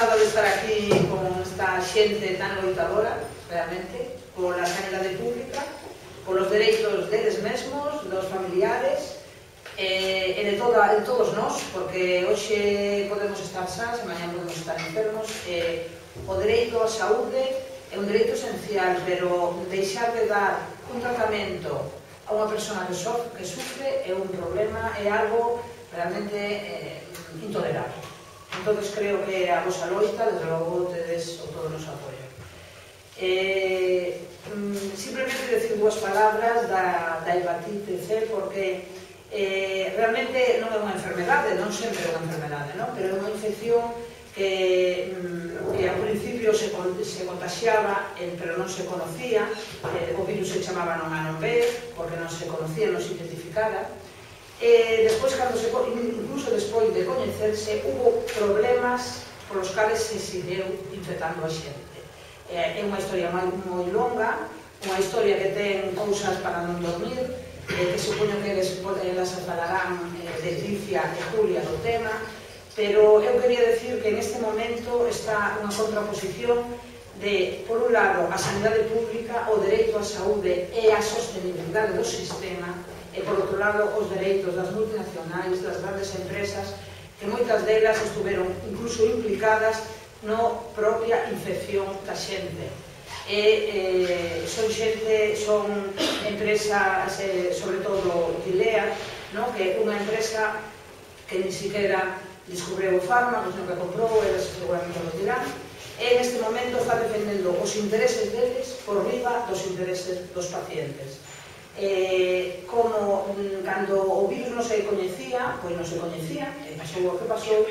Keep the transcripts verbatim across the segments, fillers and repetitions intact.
encantada de estar aquí con esta xente tan loitadora, realmente, pola sanidade pública, polos dereitos deles mesmos, dos familiares, e de todos nós, porque hoxe podemos estar sás, e mañá podemos estar enfermos. O dereito á saúde é un dereito esencial, pero deixar de dar un tratamento a unha persona que sufre é un problema, é algo realmente intolerable. Entón, creo que a vosa loita, desde logo, tedes o todo o noso apoio. Simplemente decir dúas palabras da hepatite C, porque realmente non é unha enfermedade, non sempre é unha enfermedade, pero é unha infección que ao principio se contaxiaba, pero non se conocía. O virus se chamaba non A non B, porque non se conocía, non se identificara. Despois, incluso despois de coñecerse, hubo problemas polos cales se seguiu infectando a xente. É unha historia moi longa, unha historia que ten cousas para non dormir, que supoño que elas falarán Leticia e Julia do tema, pero eu quería decir que en este momento está unha contraposición de, por un lado, a sanidade pública, o dereito á saúde e a sostenibilidade do sistema, e, por outro lado, os dereitos das multinacionais, das grandes empresas, que moitas delas estuveron incluso implicadas no propia infección da xente. Son xente, son empresas, sobre todo Gilead, que é unha empresa que ni siquiera descubriu o fármaco, senón que comprou, eles seguramente lo dirán, e neste momento está defendendo os intereses deles por riba dos intereses dos pacientes. Como cando o virus non se coñecía, pois non se coñecía, e pasou o que pasou,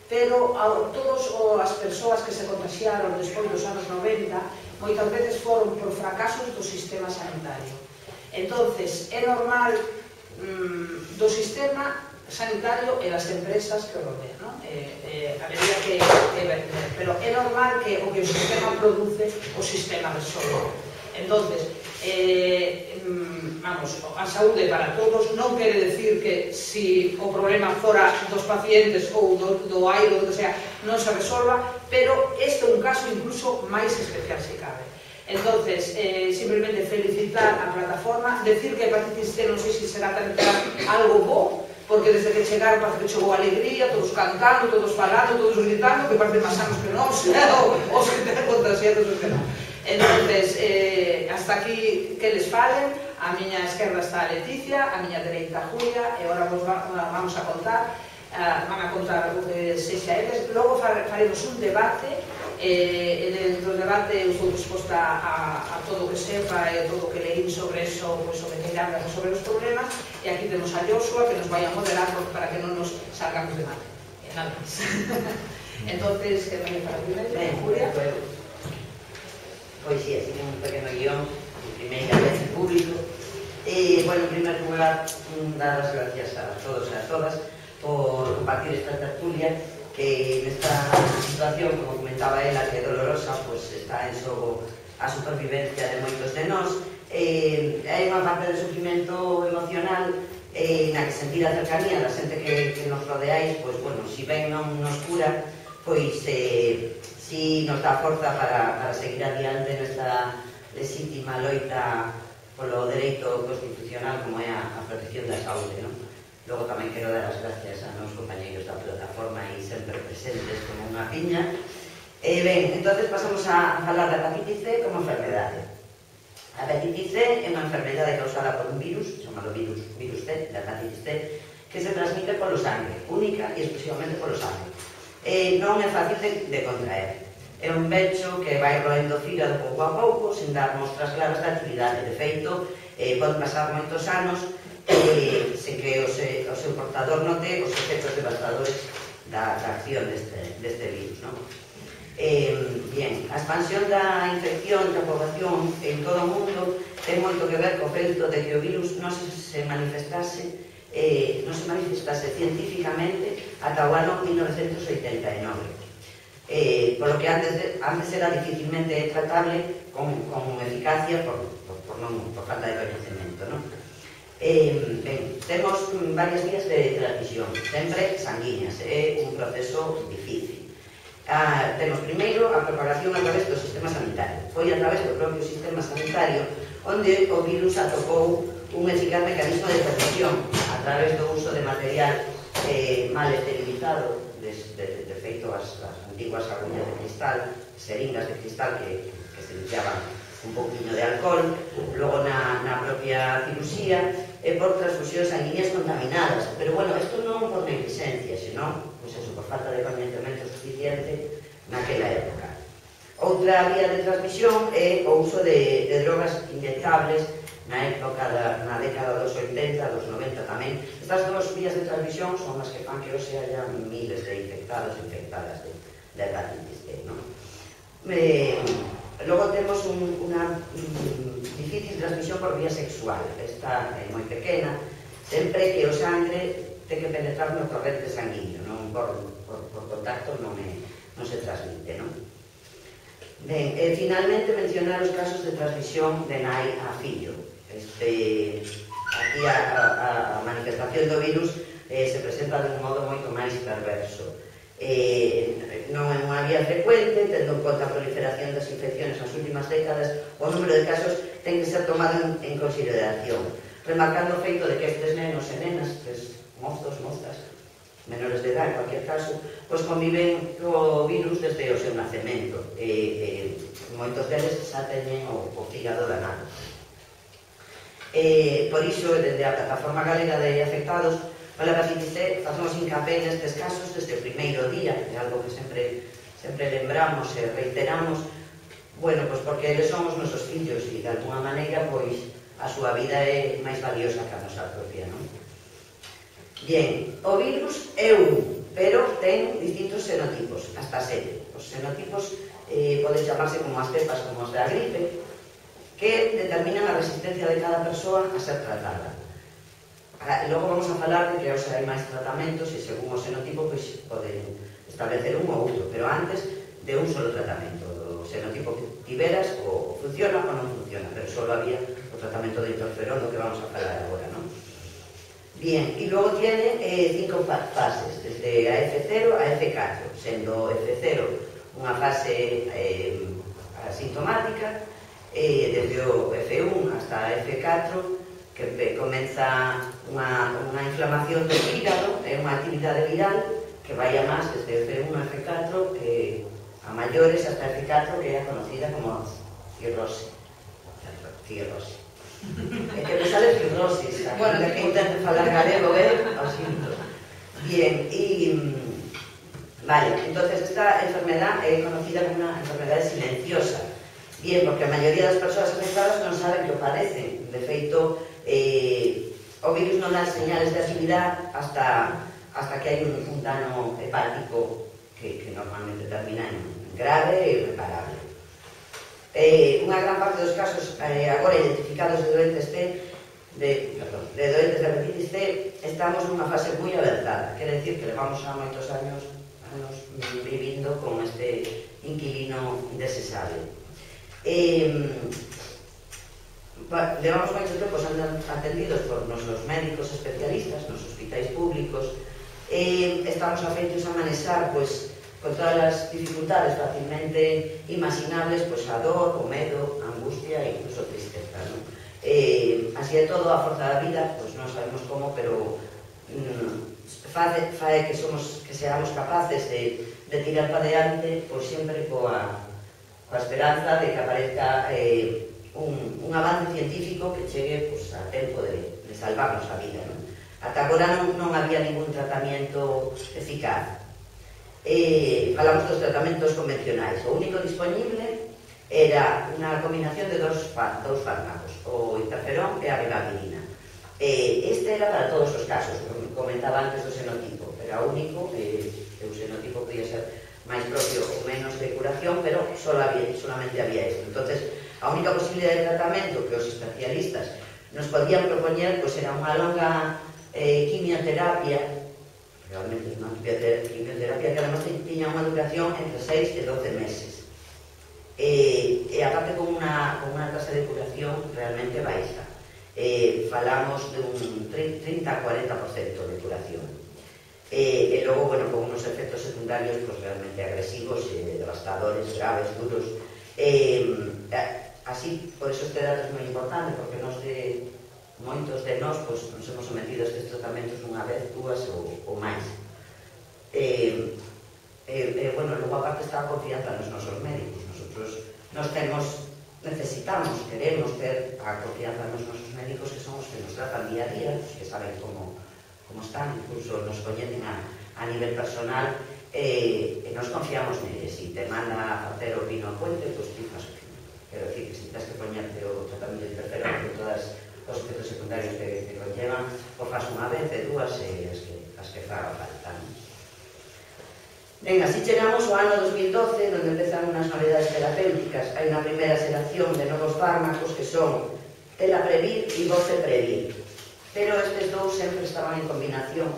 pero todas as persoas que se contaxiaron despois dos anos noventa moitas veces foron por fracasos do sistema sanitario. Entonces, é normal do sistema sanitario e das empresas que o rodean, habería que ver, pero é normal que o que o sistema produce, o sistema resolve. Entonces, vamos, a saúde para todos non quere decir que se o problema fora dos pacientes ou do aire ou do que sea, non se resolva, pero este é un caso incluso máis especial se cabe. Entonces, simplemente felicitar a plataforma, decir que a hepatitis C non sei se será algo bo, porque desde que chegaron parece que chegou alegría, todos cantando, todos falando, todos gritando, que parece máis anos que non, os que ten contagiados os que non. Entonces, hasta aquí que les falen. A miña esquerda está a Leticia, a miña dereita a Julia, e agora vamos a contar, van a contar o que sexa eles. Logo faremos un debate, e dentro do debate eu estou disposta a todo o que sepa e todo o que leín sobre eso, sobre que irán resolver os problemas, e aquí temos a Joshua que nos vai a moderar para que non nos salgamos de mal. Nada máis. Entonces, que me para primeiro, Julia. Pois sí, así que un pequeno guión de primeira vez en público. Bueno, en primer lugar, dar as gracias a todos e a todas por compartir esta tertulia, que nesta situación, como comentaba ela, que é dolorosa, está en xogo a supervivencia de moitos de nós. Hai unha parte de sufrimento emocional na que sentir a cercanía da xente que nos rodeáis, pois, bueno, si ben non nos cura, pois si nos dá forza para seguir adiante nesta legítima loita polo dereito constitucional como é a protección da saúde. Logo tamén quero dar as gracias a meus compañeiros da plataforma e sempre presentes como unha piña. Ben, entón pasamos a falar da hepatitis C como enfermedade. A hepatitis C é unha enfermedade causada por un virus, chamado virus C, da hepatitis C, que se transmite polo sangue, única e exclusivamente polo sangue. Non é fácil de contraer. É un pecho que vai roendo o fígado pouco a pouco, sin dar mostras claras de actividade. De feito, pode pasar moitos anos sen que o seu portador note os efectos devastadores da acción deste virus. Bien, a expansión da infección da poboación en todo o mundo ten moito que ver co feito de que o virus non se manifestase non se manifestase científicamente ata o ano mil novecentos oitenta e nove. Por lo que antes era dificilmente tratable con eficacia por falta de coñecemento. Temos varias vías de transmisión, sempre sanguíneas, é un proceso difícil. Ah, temos primeiro a propagación a través do sistema sanitario. Foi a través do propio sistema sanitario onde o virus atopou un eficaz mecanismo de transmisión a través do uso de material eh, mal esterilizado, de, de, de feito as, as antiguas agullas de cristal, seringas de cristal que, que se limpiaban un pouquinho de alcohol, logo na, na propia cirusía, e por transfusións sanguíneas contaminadas. Pero, bueno, isto non por negligencia, senón, pois eso, por falta de coñecemento suficiente naquela época. Outra vía de transmisión é o uso de, de drogas inyectables na época da, na década dos oitenta, dos noventa tamén. Estas dos vías de transmisión son as que fan que hoxe haya miles de infectados e infectadas de, de hepatitis C, non? Eh, logo temos un, unha um, difícil transmisión por vía sexual. Esta é moi pequena, sempre que o sangre ten que penetrar no torrente sanguíneo, non por, por, por contacto non, é, non se transmite, non? Ben, e finalmente mencionar os casos de transmisión de nai a fillo. Este, aquí a, a, a manifestación do virus eh, se presenta de un modo moito máis perverso. Eh, non é unha vía frecuente, tendo en conta a proliferación das infecciones nas últimas décadas, o número de casos ten que ser tomado en, en consideración, remarcando o feito de que estes nenos e nenas, estes mozos, mozas, menores de edad, en cualquier caso, pois conviven co virus desde o seu nacemento. E, e moitos deles xa teñen o, o fígado danado. E, por iso, desde a Plataforma Galega de Afectados pola Hepatitis C, facemos hincapié nestes casos desde o primeiro día, é algo que sempre, sempre lembramos e reiteramos, bueno, pois porque eles son os nosos fillos e, de alguna maneira, pois, a súa vida é máis valiosa que a nosa propia, non? Bien, o virus é un, pero ten distintos xenotipos, hasta sete. Os xenotipos eh, poden chamarse como as cepas, como os da gripe, que determinan a resistencia de cada persoa a ser tratada. Ah, logo vamos a falar de que hoxe hai máis tratamentos e según o xenotipo pois, poden establecer un ou outro, pero antes de un solo tratamento. O xenotipo que tiveras o funciona ou non funciona, pero só había o tratamento de interferón do que vamos a falar agora, non? Bien, y luego tiene eh, cinco fases, desde a F cero a F catro, sendo F cero unha fase eh, asintomática, eh, desde o F un hasta a F catro, que comeza unha, unha inflamación do hígado, é unha actividade viral que vai a máis desde F un a F catro, eh, a maiores hasta F catro, que é conocida como cirrose. Cirrose. É que me sale cirrosis, bueno, de que intento falar galego, eh? Ao sinto. Bien, e... Vale, entonces esta enfermedad é conocida como unha enfermedade silenciosa. Bien, porque a maioría das persoas afectadas non saben que o padecen. De feito, eh, o virus non dá señales de actividade hasta, hasta que hai un, un dano hepático que, que normalmente termina en grave e irreparable. Eh, unha gran parte dos casos eh, agora identificados de doentes C, de, perdón, de doentes de hepatitis C, estamos nunha fase moi avanzada. Quere decir que levamos xa moitos anos, anos vivindo con este inquilino indesexable. Eh, levamos moito tempo sendo atendidos por nosos médicos especialistas nos hospitais públicos. Eh, estamos afeitos a manexar, pois, con todas as dificultades facilmente imaginables, pois a dor, o medo, a angustia e incluso a tristeza, non? Eh, así é todo, a forza da vida, pois non sabemos como, pero mm, fae, fae que somos, que seamos capaces de, de tirar para diante, pois sempre coa, coa esperanza de que aparezca eh, un, un avance científico que chegue pois, a tempo de, de salvarnos a vida, non? Ata agora non, non había ningún tratamento eficaz. Eh, falamos dos tratamentos convencionais. O único disponible era unha combinación de dos, dos fármacos, o interferón e a ribavirina. Eh, este era para todos os casos, como comentaba antes do xenotipo, era único, eh, o xenotipo podía ser máis propio ou menos de curación, pero solo había, solamente había isto. Entonces, a única posibilidade de tratamento que os especialistas nos podían propoñer pois era unha longa eh, quimioterapia, realmente unha quimioterapia que además tiña unha duración entre seis e doce meses. E, e aparte con unha, con unha tasa de curación realmente baixa. Eh, falamos de un trinta a cuarenta por cento de curación. E logo, bueno, con unos efectos secundarios realmente agresivos, devastadores, graves, duros. Así, por eso este dato é moi importante, porque nos de moitos de nós nos hemos sometido a estes tratamentos unha vez, dúas ou máis. Bueno, logo aparte está a confianza nos nosos médicos. Nosotros nos temos, necesitamos, queremos ter a confianza nos nosos médicos, que son os que nos tratan día a día, os que saben como como están, incluso nos coñecen a nivel personal, e nos confiamos neles. Si te manda a facer o vino a puente, pois ti faz o vino. Quero dicir que si tens que poñerte o tratamento de interferón con todos os efectos secundarios que conllevan, o faz unha vez, e dúas, e as que faga falta. Ben, así chegamos ao ano dos mil doce, onde empezan unhas novedades terapéuticas. Hai unha primeira xeración de novos fármacos que son Elaprevir e Voceprevir. Pero estes dous sempre estaban en combinación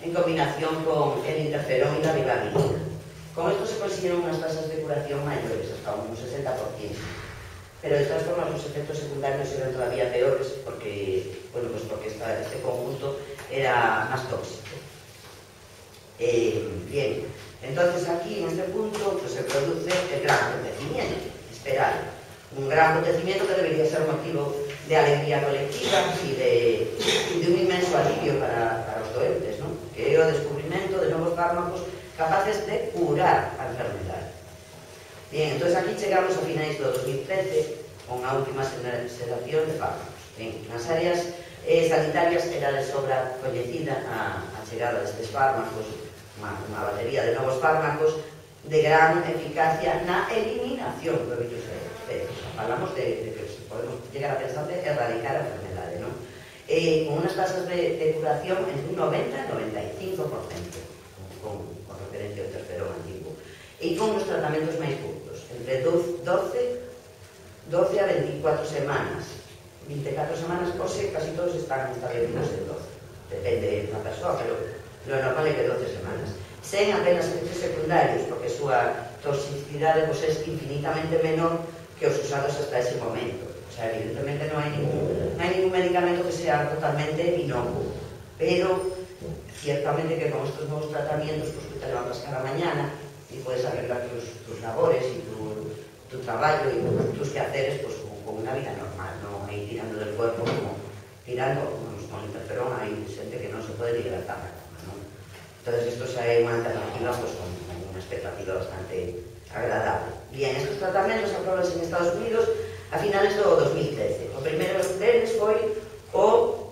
en combinación con el interferón e la ribavirina. Con esto se consiguieron unas tasas de curación mayores, hasta un sesenta por ciento. Pero de todas formas los efectos secundarios eran todavía peores porque, bueno, pues porque esta, este conjunto era más tóxico. Eh, bien, entonces aquí en este punto pues, se produce el gran acontecimiento esperado. Un gran acontecimiento que debería ser motivo de alegría colectiva e de, de un inmenso alivio para, para os doentes, ¿no? Que é o descubrimento de novos fármacos capaces de curar a enfermedade. Bien, entón aquí chegamos a finais do dos mil trece con a última xeración de fármacos. Ben, nas áreas eh, sanitarias era de sobra coñecida a, a chegada destes fármacos, unha, unha batería de novos fármacos de gran eficacia na eliminación do virus C. Falamos de, de que podemos llegar a pensar de erradicar a enfermedade, ¿no? Eh, con unas tasas de, de curación entre un noventa y noventa y cinco por ciento con, con referencia ao interferón antiguo, e con os tratamentos máis curtos, entre doce a veinticuatro semanas, veinticuatro semanas, ou se casi todos están establecidos en doce, depende da persoa, pero lo normal é que doce semanas, sen apenas efectos secundarios, porque a súa toxicidade pues, é infinitamente menor que os usados hasta ese momento. O sea, evidentemente non hai ningún, non hai ningún medicamento que sea totalmente inocuo, pero ciertamente que con estos novos tratamientos pues, te levantas cada mañana y puedes arreglar tus, tus labores y tu, tu trabajo y tus quehaceres pues, con, con una vida normal, no ahí tirando del cuerpo como tirando con, con interferón, hay gente que no se puede libertar la cama, ¿no? Entonces esto es una alternativa pues, con, con una expectativa bastante agradable. Bien, estos tratamentos aprobados en Estados Unidos a finales do dos mil trece. O primeiro deles foi o,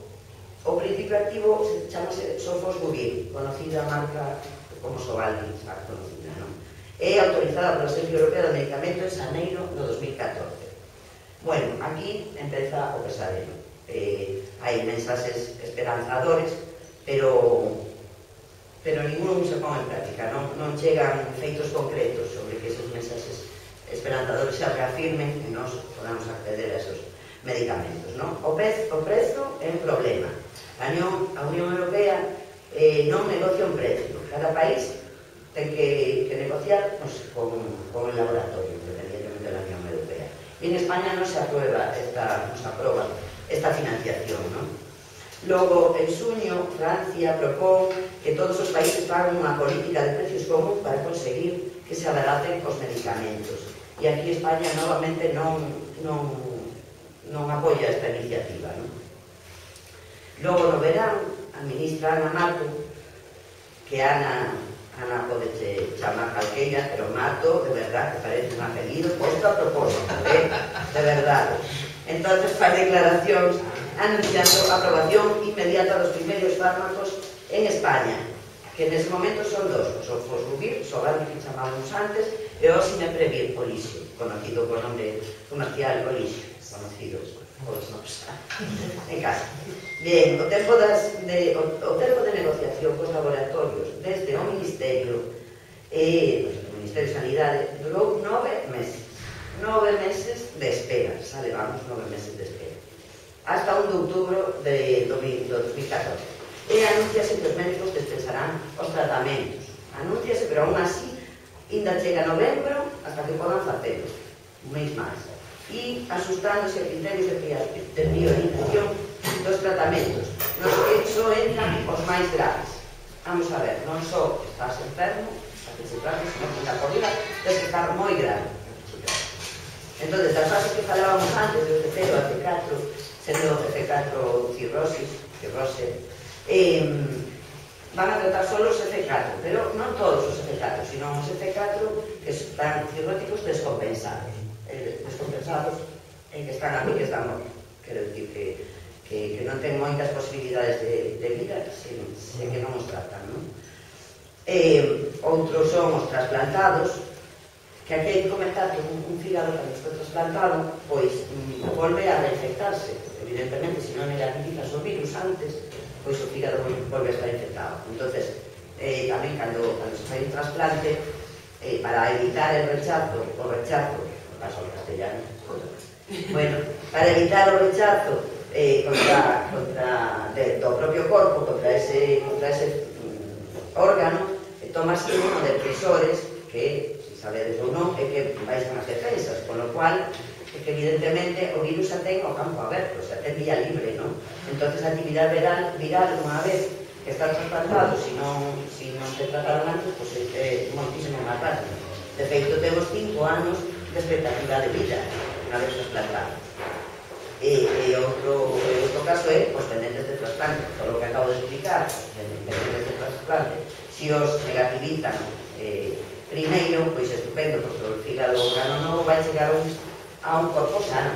o principio activo, se chamase Sofosbuvir, conocida a marca como Sovaldi, xa conocida, non? É autorizada pola Agencia Europea de Medicamento en xaneiro do dos mil catorce. Bueno, aquí empeza o pesadelo. Eh, hai mensaxes esperanzadores, pero pero ningún se pon en práctica, non, non chegan feitos concretos sobre que esos mensaxes esperanzadores se reafirmen e nos podamos acceder a esos medicamentos, non? O, pez, o prezo é un problema. A Unión, a Unión Europea eh, non negocia un precio. Cada país ten que, que negociar pues, con, con el laboratorio, independientemente de la Unión Europea. Y en España non se aprueba esta, no se aprueba esta financiación, non? Logo, en xuño, Francia propón que todos os países fagan unha política de precios común para conseguir que se abaracen os medicamentos. E aquí España novamente non, non, non apoia esta iniciativa, non? Logo, no verán, a ministra Ana Mato, que Ana, Ana pode chamar calqueira, pero Mato, de verdad, que parece un apelido posto a propósito, eh? De verdade. Entonces, faz declaracións anunciando a aprobación inmediata dos primeiros fármacos en España, que nese momento son dos, o Sofosbuvir, Sovaldi que chamábamos antes, e o Sineprevir, Olixio, conocido por nome comercial Olixio, conocido os nomes en casa. Bien, o tempo, das, de, o, o tempo de negociación cos laboratorios desde o Ministerio e o Ministerio de Sanidade durou nove meses. Nove meses de espera, xa levamos nove meses de espera. Hasta un de outubro de dos mil catorce. E anunciase que os médicos dispensarán os tratamentos. Anunciase, pero aún así, ainda chega novembro hasta que podan facelo, un mês máis. E asustándose a criterios de priorización dos tratamentos, nos que só entran os máis graves. vamos a ver, non só estás enfermo, a que se trate, sino que na corrida tens que estar moi grave. Entón, das fases que falábamos antes, do T cero a T catro, sendo T catro cirrosis, cirrose, eh, van a tratar solo os F catro, pero non todos os F catro, sino os F catro que están cirróticos descompensados. Eh, descompensados e que están aquí, que están mortos. Quero dicir que, que, que non ten moitas posibilidades de, de vida se, se que non os tratan, non? Eh, outros son os trasplantados, que aquí hai que comentar que un, un fígado que foi trasplantado, pois mm, volve a reinfectarse. Evidentemente, se non negativizas o virus antes, pois o fígado volve a estar infectado. Entonces, eh, tamén cando, cando se fai un trasplante, eh, para evitar el rechazo, o rechazo, paso ao castellano, bueno, para evitar o rechazo eh, contra, contra de, do propio corpo, contra ese, contra ese mm, órgano, eh, tomas inmunodepresores que, se sabedes ou non, é que baixan as defensas, con lo cual é que evidentemente o virus xa ten o campo aberto, xa ten vía libre, non? Entonces a actividade viral, viral unha vez que están trasplantados, se non, si non se trataron antes, pois pues, é moitísimo máis rápido. De feito, temos cinco anos de expectativa de vida unha vez trasplantado. E, e outro, outro caso é os pendentes de trasplante, todo o que acabo de explicar, pendentes de trasplante, se os negativizan eh, primeiro, pois estupendo, porque o fígado órgano novo vai chegar a un, a un corpo sano.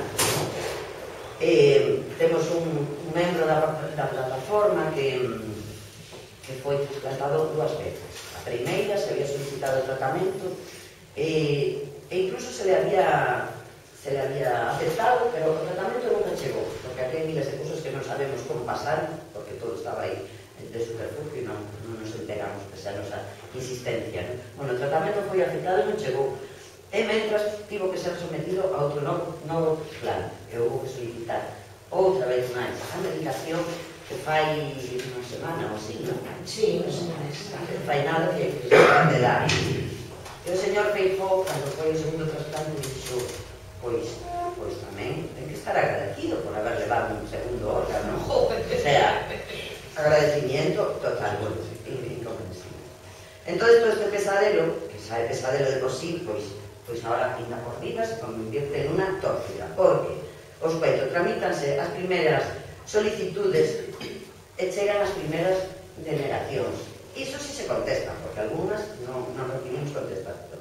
Eh, temos un, un membro da, da plataforma que, que foi trasplantado dúas veces. A primeira se había solicitado o tratamento e, e incluso se le había se le había aceptado, pero o tratamento nunca chegou, porque aquí hai miles de cosas que non sabemos como pasar, porque todo estaba aí de superfugio e non, non nos enteramos pese a nosa insistencia, non? Bueno, o tratamento foi aceptado e non chegou, e mentras tivo que ser sometido a outro novo, novo plan, que houve que solicitar outra vez máis a medicación que fai unha semana ou así, non? Sí, unha semana. Que fai nada que se van de dar. E o señor Feijóo, cando foi o segundo trasplante, dixo, pois, pois tamén ten que estar agradecido por haber levado un segundo órgano. O sea, agradecimiento total, bueno, incomprensible. Entón, todo este pesadelo, que xa é pesadelo de por sí, pois, pois agora ainda por vida se convierte en unha tóxica, porque os peitos tramítanse as primeiras solicitudes e chegan as primeiras denegacións. Iso si se contestan, porque algunhas non, non recibimos contestación.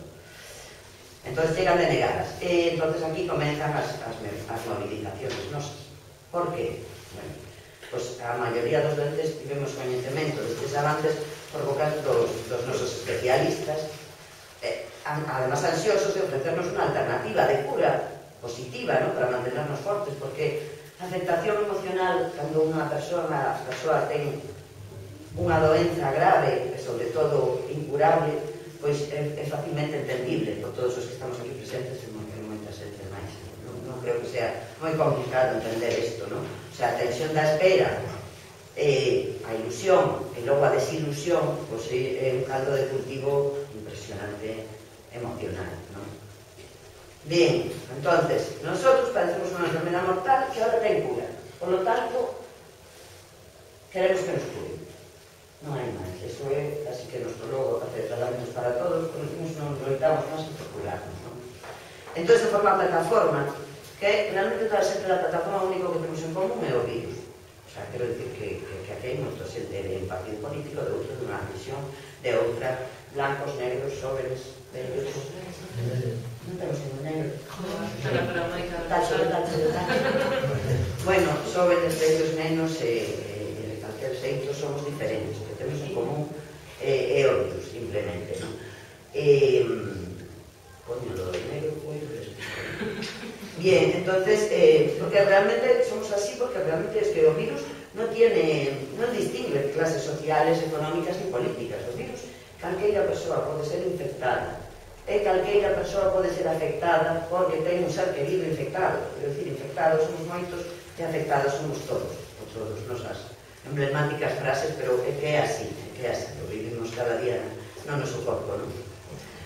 Entón chegan denegadas. E entón aquí comenzan as, as, as movilizaciones nosas. Por que? Bueno, pois a maioría dos doentes tivemos coñecemento destes avances por boca dos, dos nosos especialistas, eh, además ansiosos de ofrecernos unha alternativa de cura positiva, ¿no? Para mantenernos fortes, porque a aceptación emocional cando unha persoa, a persoa ten unha doenza grave e sobre todo incurable, pois é, é facilmente entendible por todos os que estamos aquí presentes e moitas xente máis. Non, non creo que sea moi complicado entender isto, non? O sea, a tensión da espera, eh, a ilusión e logo a desilusión, pois é un caldo de cultivo impresionante emocional, non? Bien, entonces, nosotros padecemos unha enfermedad mortal que ahora ten cura. Por lo tanto, queremos que nos cure. Non hai máis. Eso é así que nos logo hacer tratamentos para todos, porque nos loitamos máis que procurarnos, non? Entón, se forma a plataforma, que realmente toda xente da plataforma o único que temos en común é o virus. O sea, quero dicir que, que, que aquí hai moito xente de un partido político, de outro, de unha visión, de outra, blancos, negros, jóvenes, vellos. Non temos ningún negro. Tacho, tacho, tacho. Bueno, jóvenes, vellos, nenos e de calquer xeito somos diferentes. O que temos en común é o virus, simplemente, non? Coño, lo de negro foi... Bien, entonces, eh, porque realmente somos así, porque realmente es que o virus non tiene, non distingue clases sociales, económicas ni políticas. O virus, calqueira persoa pode ser infectada, e calqueira persoa pode ser afectada porque ten un ser querido infectado. Quero dicir, infectados somos moitos e afectados somos todos, por todas nosas emblemáticas frases, pero é que é así, é que é así, lo vivimos cada día no noso corpo, non?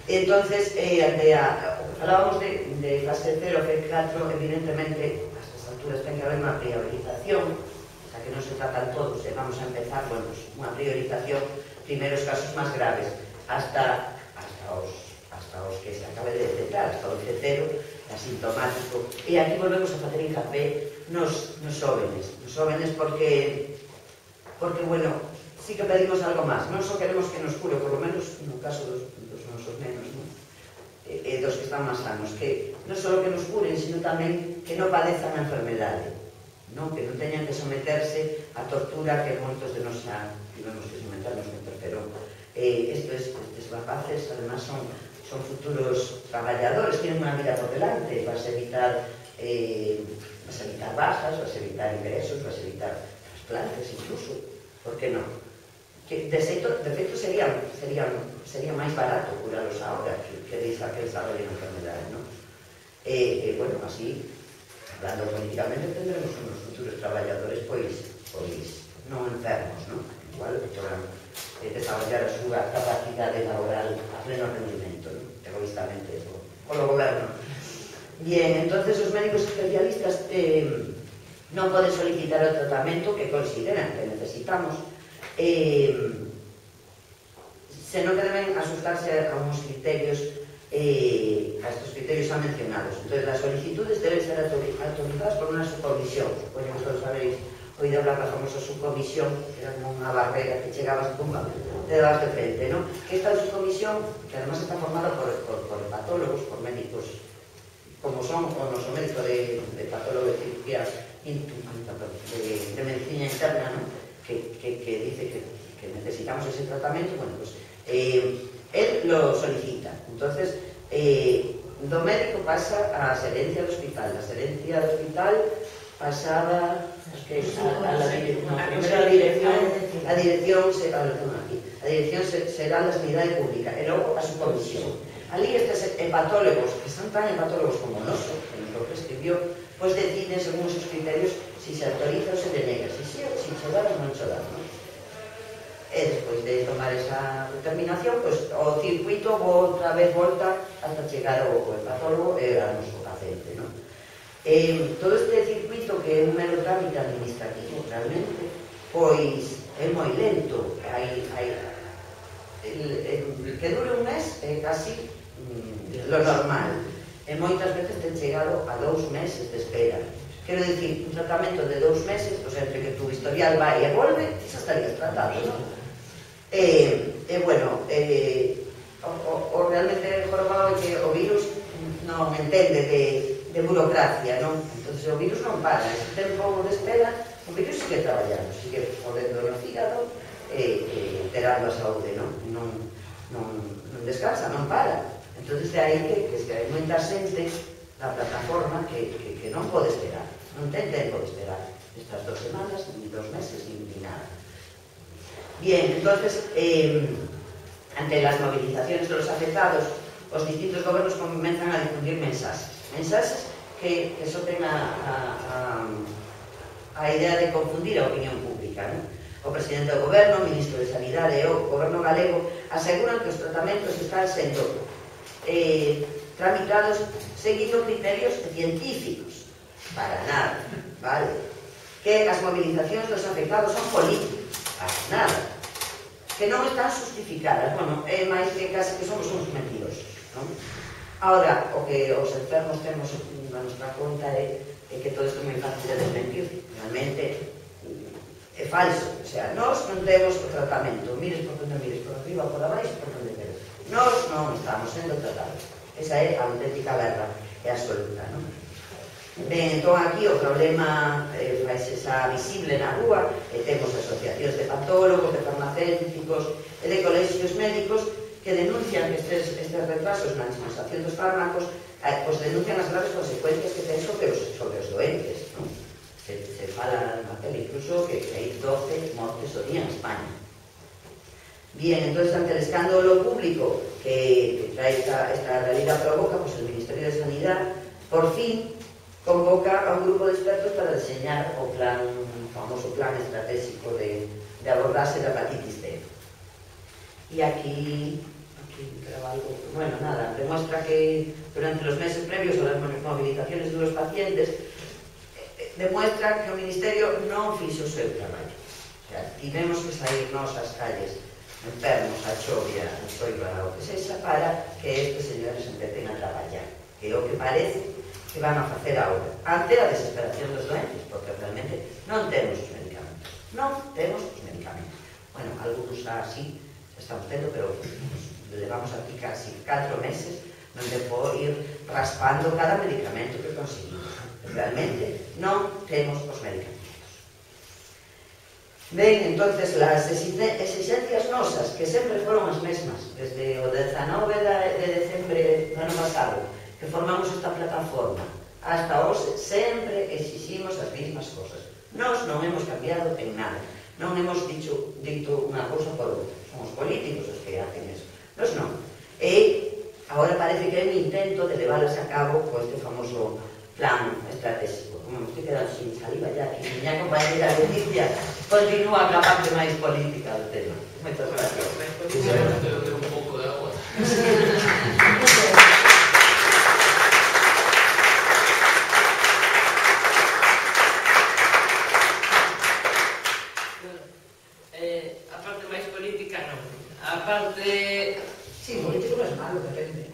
Entonces, eh, de a, falábamos de, de fase cero, F catro, evidentemente, a estas alturas ten que haber unha priorización, o sea, que non se tratan todos, e vamos a empezar, bueno, pues, unha priorización primeros casos máis graves, hasta hasta os, hasta os que se acabe de detectar, hasta o cero, asintomático. E aquí volvemos a facer hincapié nos, nos jóvenes, nos jóvenes porque, porque, bueno, sí que pedimos algo máis. Non só queremos que nos cure, por lo menos no caso dos, dos nosos nenos, non? E, e dos que están máis sanos, que non só que nos curen, sino tamén que non padezan a enfermedade, non? Que non teñan que someterse a tortura que moitos de nos xa tivemos que someternos que interferón. Eh, estes, estes rapaces, además, son, son futuros traballadores, tienen unha vida por delante, vas a evitar eh, vas a evitar bajas, vas a evitar ingresos, vas a evitar trasplantes incluso, por que non? Que de feito, de feito sería, sería, sería máis barato curalos agora que, que deixa que desarrollen a enfermedade, non? E, e, bueno, así, hablando políticamente, tendremos unos futuros traballadores, pois, pois, non enfermos, non? Igual, podrán eh, desarrollar a súa capacidade laboral a pleno rendimento, non? Egoístamente, polo goberno. Bien, entonces os médicos especialistas eh, non poden solicitar o tratamento que consideran que necesitamos, eh, senón que deben asustarse a unos criterios, eh, a estos criterios ya mencionados. Entonces, las solicitudes deben ser autorizadas por una subcomisión. Bueno, vosotros habéis oído hablar de la famosa subcomisión, que era como una barrera que llegabas a tumba, te dabas de frente, ¿no? Que esta subcomisión, que además está formada por, por, por hepatólogos, por médicos, como son, o no son médicos de, de patólogo de cirugía, de, de medicina interna, ¿no? Que, que, que dice que, que necesitamos ese tratamiento, bueno, pues eh, él lo solicita. Entonces, eh, do médico pasa a xerencia do hospital. La xerencia do hospital pasaba a, a, a la dirección, no, primero a dirección, a dirección, a, aquí, a dirección será la sanidade pública, e logo a su comisión. Ali estes hepatólogos, que son tan hepatólogos como noso, que nos lo prescribió, pues deciden según sus criterios si se autoriza ou se denega, si se si se dá ou non se dá, non? E despois de tomar esa determinación, pues o circuito outra vez volta hasta chegar ao hepatólogo e ao noso paciente, non? Eh, todo este circuito, que é un mero trámite administrativo, realmente, pois é moi lento. Hai, hai, el, el, que dure un mes é casi mm, lo normal. E moitas veces ten chegado a dous meses de espera. Quero dicir, un tratamento de dous meses, o sea, entre que tu historial vai e volve, xa estarías tratado, non? E, e bueno, eh, o, o, o realmente jorobado é que o virus non entende de, de burocracia, non? Entón, o virus non para, ese tempo de espera, o virus sigue traballando, sigue podendo no fígado e, e terando a saúde, non? Non, non, non descansa, non para. Entón, de aí que, que, que hai moita xente da plataforma que, que, que non pode esperar, non ten tempo de esperar estas dos semanas, ni dos meses, ni, ni nada. Bien, entonces, eh, ante las movilizaciones de los afectados, os distintos gobernos comenzan a difundir mensajes. Mensajes que, que so ten a, a, a, a idea de confundir a opinión pública, ¿no? O presidente do goberno, o ministro de Sanidade e o goberno galego aseguran que os tratamentos están sendo eh, tramitados seguindo criterios científicos. Para nada, vale? Que as movilizacións dos afectados son políticos. Para nada. Que non están justificadas. Bueno, é máis que casi que somos uns mentirosos, non? Ahora, o que os enfermos temos na nosa conta é, é que todo isto é moi fácil de desmentir. Realmente é falso. O sea, nós non temos o tratamento. Mires por onde mires, por arriba, por abaixo, por onde queres. Nós non estamos sendo tratados. Esa é a auténtica verdad, é absoluta, non? Ben, entón aquí o problema eh, faise xa visible na rúa, e temos asociacións de patólogos, de farmacéuticos e de colexios médicos que denuncian que estes, estes retrasos na dispensación dos fármacos, eh, pues denuncian as graves consecuencias que ten sobre os, sobre os doentes, non? Se, se fala na tele incluso que hai doce mortes ao día en España. Bien, entonces, ante el escándalo público que, que trae esta, esta realidad provoca, pues el Ministerio de Sanidad, por fin, convoca a un grupo de expertos para diseñar o plan, o famoso plan estratégico de, de abordarse la hepatitis C. Y aquí, aquí algo, bueno, nada, demuestra que durante los meses previos a las movilizaciones de los pacientes, eh, demuestra que o Ministerio non fixo o seu traballo. O sea, tivemos que sairnos ás calles enfermos, a chovia, a choiva, o que sexa, para que estes señores empecen a traballar, que é o que parece que van a facer agora, ante a desesperación dos doentes, porque realmente non temos os medicamentos, non temos os medicamentos. Bueno, algunos así estamos tendo, pero levamos aquí casi catro meses onde por ir raspando cada medicamento que conseguimos. Realmente non temos os medicamentos. Ben, entonces, as exigencias nosas, que sempre foron as mesmas, desde o dezanove de decembre do ano pasado, que formamos esta plataforma, hasta hoxe, sempre exiximos as mesmas cosas. Nós non hemos cambiado en nada, non hemos dicho, dito unha cousa por outra, somos políticos os que hacen eso. Nós non. E agora parece que é un intento de leválas a cabo con este famoso plan estratégico. Como me estoy quedando sin saliva ya, que miña compañera Leticia continúa con a parte máis política do tema. Moitas gracias. Sinceramente, eu tengo un pouco de agua. Eh, a parte máis política non. A parte... Sí, político non é malo, depende.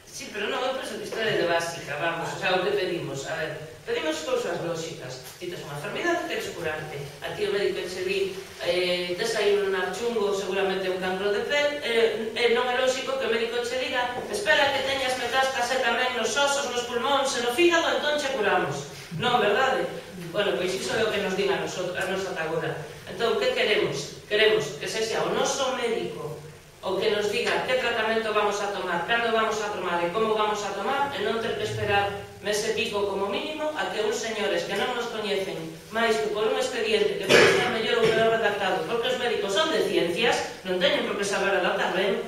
Sí, pero non, eu penso que isto é de básica, vamos, o sea, o que pedimos, a ver, pedimos cousas lóxicas. Ti tes unha enfermidade, queres curarte. A ti o médico che di, eh, tes aí un archungo, seguramente un cancro de pel, eh, eh, non é lóxico que o médico che diga, espera que teñas metástase tamén nos osos, nos pulmóns e no fígado, entón che curamos. Non, verdade? Bueno, pois iso é o que nos diga a nosa agora. Entón, que queremos? Queremos que sexa o noso médico o que nos diga que tratamento vamos a tomar, cando vamos a tomar e como vamos a tomar, e non ter que esperar mes e pico como mínimo a que uns señores que non nos coñecen máis que por un expediente que pode ser mellor ou peor redactado, porque os médicos son de ciencias, non teñen por que saber adaptar ben,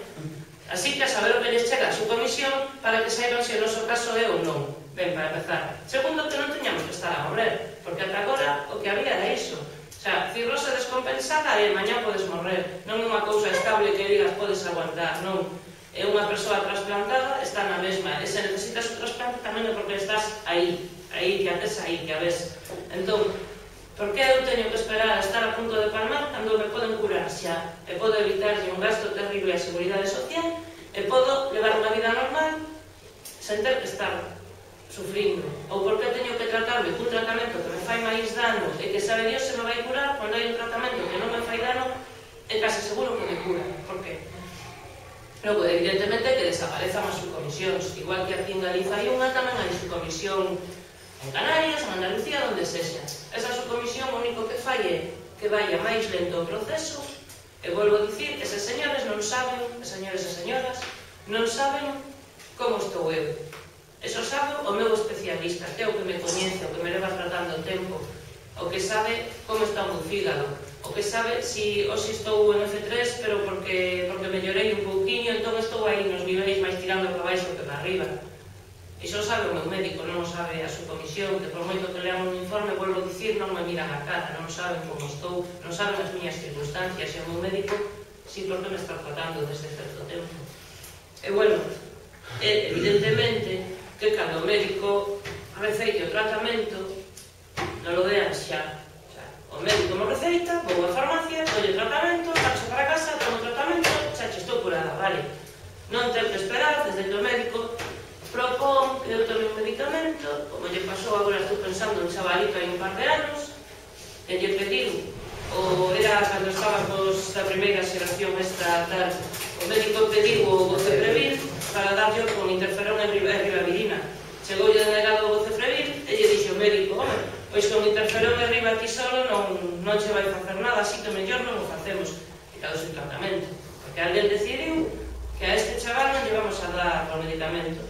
así que a saber o que les chega a su comisión para que saiban se o noso caso é ou non. Ben, para empezar. Segundo, que non teñamos que estar a morrer, porque ata agora o que había era iso. O sea, cirrose descompensada e mañá podes morrer. Non é unha cousa estable que digas podes aguantar, non. É unha persoa trasplantada, está na mesma. E se necesitas o trasplante tamén é porque estás aí, aí, que antes aí, que a ves. Entón, por que eu teño que esperar a estar a punto de palmar cando me poden curar xa? E podo evitarlle un gasto terrible a seguridade social e podo levar unha vida normal sen ter que estar sufrindo, ou porque teño que tratarme cun tratamento que me fai máis dano e que sabe Dios se me vai curar cando hai un tratamento que non me fai dano e case seguro que me cura. Por qué? Logo, evidentemente que desaparezan as subcomisións, igual que aquí en Galiza hai unha, tamén hai subcomisión en Canarias, en Andalucía, onde sexa. Esa subcomisión o único que fai é que vaya máis lento o proceso e volvo a dicir que se señores non saben, señores e señoras, non saben como estou eu. Eso sabe o meu especialista, que é o que me coñece, o que me leva tratando o tempo, o que sabe como está o meu fígado, o que sabe si hoxe estou en F tres, pero porque, porque mellorei un pouquiño, entón estou aí nos niveis máis tirando para baixo que para arriba. Iso sabe o meu médico, non o sabe a subcomisión, que por moito que lean un informe, volvo a dicir, non me miran a cara, non saben como estou, non saben as miñas circunstancias, e o meu médico si porque me está tratando desde certo tempo. E bueno, evidentemente, que cando o médico receite o tratamento non lo dean xa. O médico me receita, vou á farmacia, dolle tratamento, marcho para casa, tomo tratamento, xa che estou curada, vale. Non ter que esperar desde que o médico propón que eu tome un medicamento, como lle pasou agora, estou pensando en chavalito hai un par de anos, que lle pediu, ou era cando estábamos da primeira xeración esta tal, o médico pediu o Voceprevir para darlle con interferón e ribavirina. Chegoulle denegado o Voceprevir e lle dixo o médico, home, pois con interferón e riba ti solo non, non che vai facer nada, así que mellor non o facemos. E cado o tratamento. Porque alguén decidiu que a este chaval non lle vamos a dar o medicamento.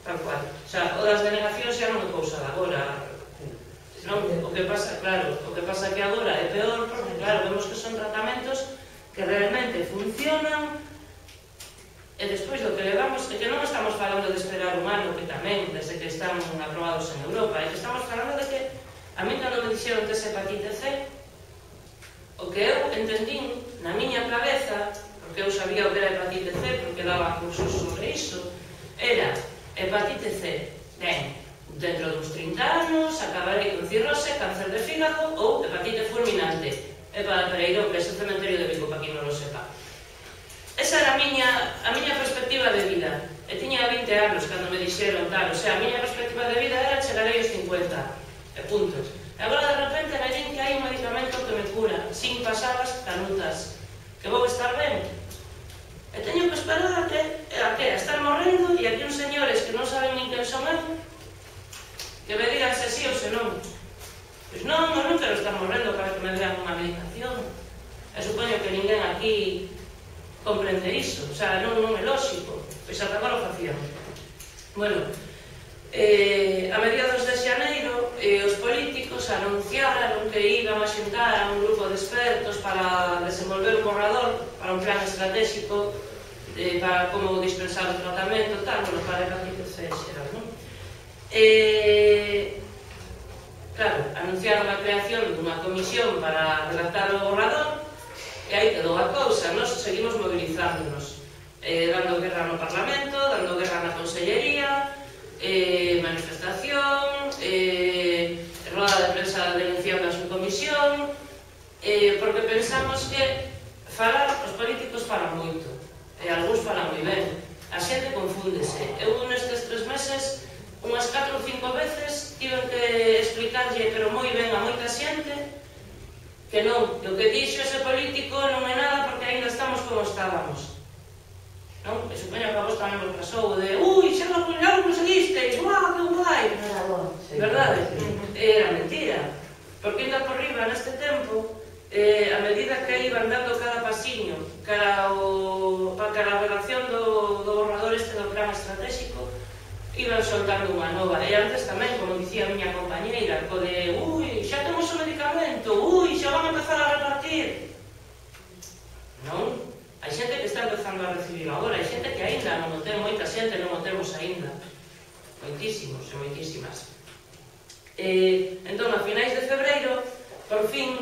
Tal cual. O sea, o das denegacións xa non é cousa de agora. Non, o que pasa, claro, o que pasa que agora é peor porque, claro, vemos que son tratamentos que realmente funcionan. E despois do que levamos, é que non estamos falando de esperar un ano, que tamén, desde que están aprobados en Europa, é que estamos falando de que, a mí cando me dixeron tes hepatite C, o que eu entendín na miña cabeza, porque eu sabía o que era hepatite C, porque daba cursos sobre iso, era hepatite C, ben, dentro dos trinta anos, acabarei con cirrose, cáncer de fígado ou hepatite fulminante. É para Pereirón, que é o cementerio de Vigo, para quien non lo sepa. esa era a miña, a miña perspectiva de vida. E tiña vinte anos cando me dixeron tal, o sea, a miña perspectiva de vida era chegarei aos cincuenta, e puntos. E agora, de repente, me din que hai un medicamento que me cura, sin pasadas canutas, que vou estar ben. E teño que esperar a que, a que, a estar morrendo, e aquí uns señores que non saben nin quen son eu, que me digan se sí ou se non. Pois non, non quero estar morrendo para que me dean unha medicación. E supoño que ninguén aquí comprende iso, o sea, non, non é lógico. Pois ata agora o facíamos. Bueno, eh, a mediados de xaneiro, eh, os políticos anunciaron que iban a xuntar a un grupo de expertos para desenvolver un borrador para un plan estratégico eh, para como dispensar o tratamento, tal, bueno, para hepatitis C xeral, non? Eh, claro, anunciaron a creación dunha comisión para redactar o borrador e aí quedou a cousa, nós seguimos movilizándonos. Eh, dando guerra no Parlamento, dando guerra na Consellería, eh, manifestación, eh, roda de prensa denunciando a súa comisión, eh, porque pensamos que falar, os políticos falan moito, e algúns falan moi ben, a xente confúndese. Eu nestes tres meses, unhas catro ou cinco veces, tiven que explicarlle, pero moi ben a moita xente, que non, que o que dixo ese político non é nada porque ainda estamos como estábamos. Non? E supoño que a vos tamén vos pasou de ui, xa lo conseguisteis, uau, que guai, verdade? Era mentira, porque ainda por riba neste tempo, eh, a medida que iban dando cada pasiño cara, o, cara a relación do, do borrador este do plan estratégico, iban soltando unha nova. E antes tamén, como dicía a miña compañeira, co de ui, xa temos o medicamento, ui, xa van a empezar a repartir. Non? Hai xente que está empezando a recibir agora, hai xente que aínda non o ten, moita xente non o temos aínda. Moitísimos e moitísimas. Eh, entón, a finais de febreiro, por fin,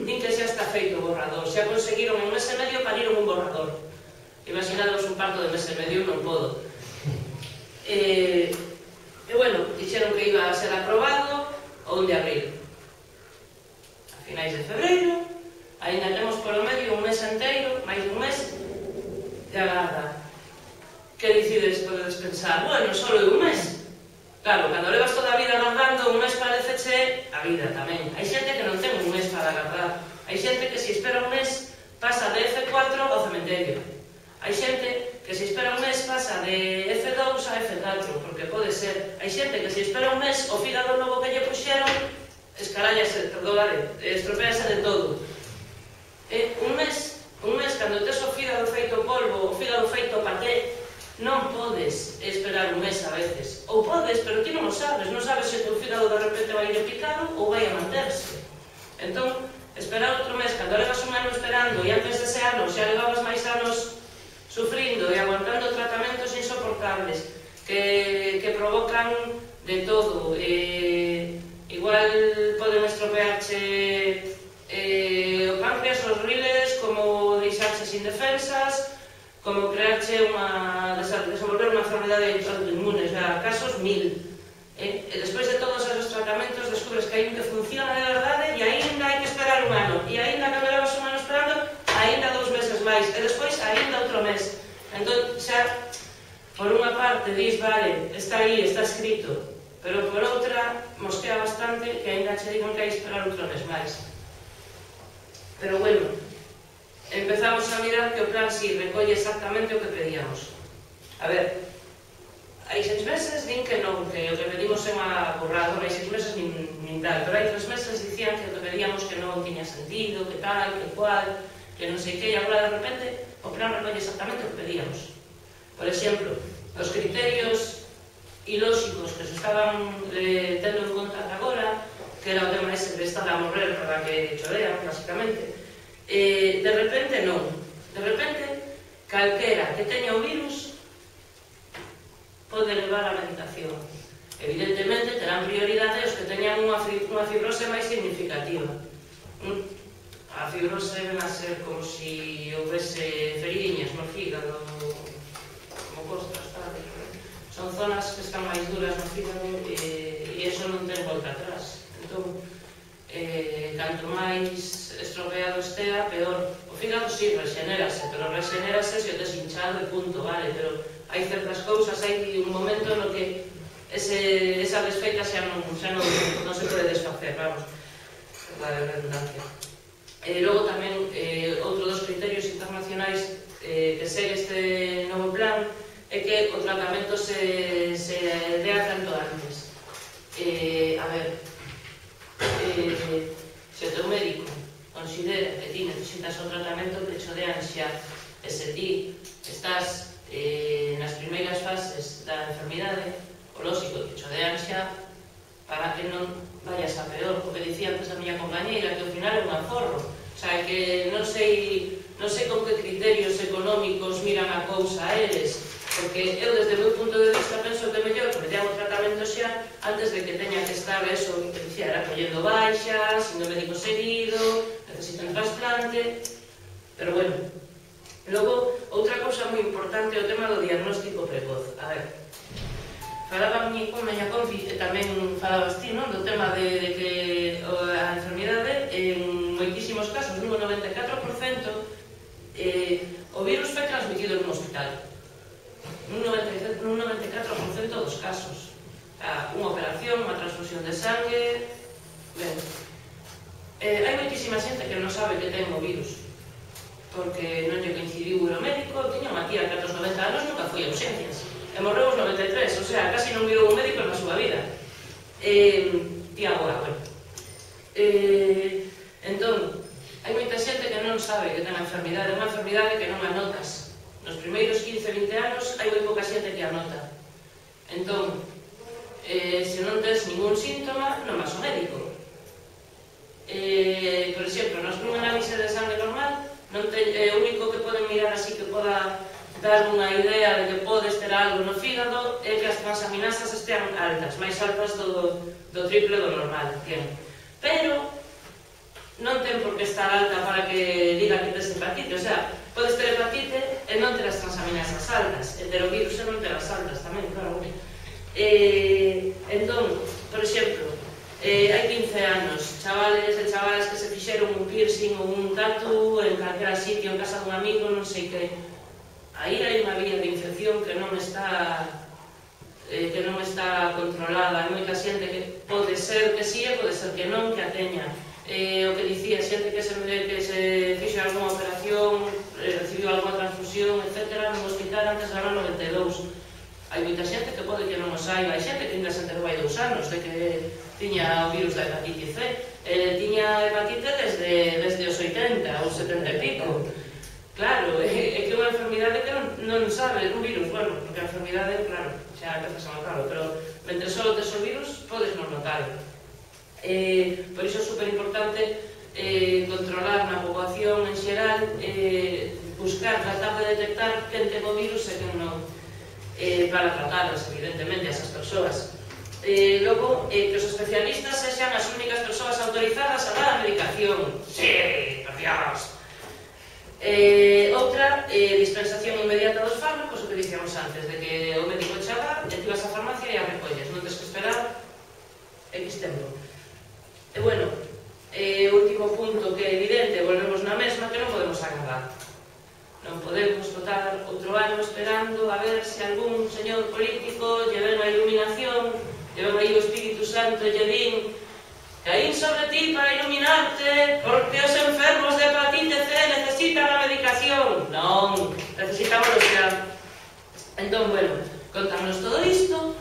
din que xa está feito o borrador. Xa conseguiron en un mes e medio pariron un borrador. Imaginados un parto de mes e medio, non podo. Eh, e, bueno, dixeron que iba a ser aprobado o un de abril. A finais de febreiro, ainda temos polo medio un mes enteiro, máis dun mes, de agarda. Que decides, podedes pensar, bueno, só é un mes. Claro, cando levas toda a vida agardando, un mes pareceche a vida tamén. Hai xente que non ten un mes para agardar. Hai xente que se espera un mes, pasa de F cuatro ao cementerio. Hai xente que se espera un mes, pasa de F dous a F catro, porque pode ser. Hai xente que se espera un mes, o fígado novo que lle puxeron, escarallase, perdónale, estropease de todo. Eh, un mes, un mes, cando tes o fígado feito polvo, o fígado feito paté, non podes esperar un mes a veces. Ou podes, pero ti non o sabes, non sabes se o teu fígado de repente vai ir picado ou vai a manterse. Entón, esperar outro mes, cando levas un ano esperando e antes dese ano xa levabas máis anos sufrindo e aguantando tratamentos insoportables que, que provocan de todo. Eh, igual poden estropearche Eh, o páncreas, os riles, como deixarse sin defensas, como crearche unha, desenvolver unha enfermedade autoinmune, xa, casos mil. Eh, e despois de todos esos tratamentos descubres que hai un que funciona de verdade e aínda hai que esperar un ano. E aínda que levas un ano esperando, aínda dous meses máis. E despois aínda outro mes. Entón, xa, por unha parte, dis, vale, está aí, está escrito, pero por outra, mosquea bastante que aínda che digan que hai que esperar outro mes máis. Pero bueno, empezamos a mirar que o plan si recolle exactamente o que pedíamos. A ver, hai seis meses din que non, que o que pedimos é unha borrador, hai seis meses nin, nin tal, pero hai tres meses dicían que o que pedíamos que non tiña sentido, que tal, que cual, que non sei que, e agora de repente o plan recolle exactamente o que pedíamos. Por exemplo, os criterios ilóxicos que se estaban eh, tendo en conta agora, que era o tema ese de estar a morrer para que chorean, basicamente, eh, de repente non. De repente, calquera que teña o virus pode levar a medicación. Evidentemente, terán prioridade os que teñan unha, unha fibrose máis significativa. A fibrose ven a ser como si houvese feriñas no fígado, como costras, tal. Son zonas que están máis duras no fígado e, e eso non ten volta atrás. Entón, eh, canto máis estropeado estea, peor. O fígado sí, rexenérase, pero rexenérase se o tes hinchado e punto, vale, pero hai certas cousas, hai un momento no que ese, esa desfeita xa non, xa non, non se pode desfacer, vamos, a redundancia. E logo tamén, eh, outro dos criterios internacionais eh, que segue este novo plan é que o tratamento se, se dea tanto antes. Eh, a ver, eh, se o teu médico considera que ti necesitas o tratamento que cho dean xa, e se ti estás eh, nas primeiras fases da enfermidade, o lógico que cho dean xa para que non vayas a peor, porque dicía antes a miña compañeira que ao final é un aforro, o sea, que non sei non sei con que criterios económicos miran a cousa a eles, porque eu desde o meu punto de vista penso que é mellor que me dean o tratamento xa antes de que teña que estar eso, que dicía, era collendo baixas, indo médico seguido, necesito un trasplante, pero bueno. Logo, outra cousa moi importante é o tema do diagnóstico precoz. A ver, falaba a miña compi, e tamén falabas ti, non? Do tema de, de que a enfermidade, en moitísimos casos, nun noventa e catro por cento, eh, o virus foi transmitido nun hospital. Nun noventa e catro por cento dos casos. Unha operación, unha transfusión de sangue... Ben, eh, hai moitísima xente que non sabe que ten o virus, porque non lle coincidiu o médico. Tiña unha tía que aos noventa anos nunca foi a urxencias, e morreu aos noventa e tres, o sea, casi non virou un médico na súa vida. Eh, tía agora, bueno. Eh, entón, hai moita xente que non sabe que ten a enfermidade, unha enfermidade que non anotas. Nos primeiros quince a vinte anos hai moi pouca xente que anota. Entón, eh, se non tens ningún síntoma, non vas ao médico. Eh, por exemplo, nos nunha análise de sangue normal, non te, eh, o único que poden mirar así que poda dar unha idea de que podes ter algo no fígado é que as transaminasas estean altas, máis altas do, do triple do normal, ten. Pero non ten por que estar alta para que diga que tes hepatite, o sea, podes ter hepatite e non ter as transaminasas altas, e ter o virus e non ter as altas tamén, claro. Eh, entón, por exemplo, eh, hai quince anos, chavales e chavalas que se fixeron un piercing ou un tatu en calquera sitio, en casa dun amigo, non sei que. Aí hai unha vía de infección que non está eh, que non está controlada. Hai moita xente que pode ser que sí e pode ser que non, que a teña. Eh, o que dicía, xente que se, que se fixo algunha operación, eh, recibiu algunha transfusión, etcétera, no hospital antes do ano noventa e dous. Hai moita xente que pode que non o saiba, hai xente que ainda se enterou hai dous anos de que tiña o virus da hepatite C. Eh, tiña hepatite desde, desde os oitenta ou setenta e pico. Claro, é, é que é unha enfermidade que non, non sabe, un virus, bueno, porque a enfermidade, claro, xa empezas a notarlo, pero mentre só tes o virus, podes non notarlo. Eh, por iso é super importante eh, controlar na poboación en xeral, eh, buscar, tratar de detectar quen ten o virus e quen non, eh, para tratarlas, evidentemente, a esas persoas. Eh, logo, eh, que os especialistas sexan as únicas persoas autorizadas a dar a medicación. Sí, por Dios! Eh, outra, eh, dispensación inmediata dos fármacos, o que dicíamos antes, de que o médico chega, e ti vas á farmacia e a recolles, non tens que esperar X tempo. E bueno, eh, último punto que é evidente, volvemos na mesma, que non podemos agarrar. Non podemos botar outro ano esperando a ver se algún señor político lle ven a iluminación, lle ven aí o Espírito Santo e lle din: caín sobre ti para iluminarte, porque os enfermos de hepatite C necesitan a medicación. Non, necesitamos xa. Entón, bueno, contamos todo isto,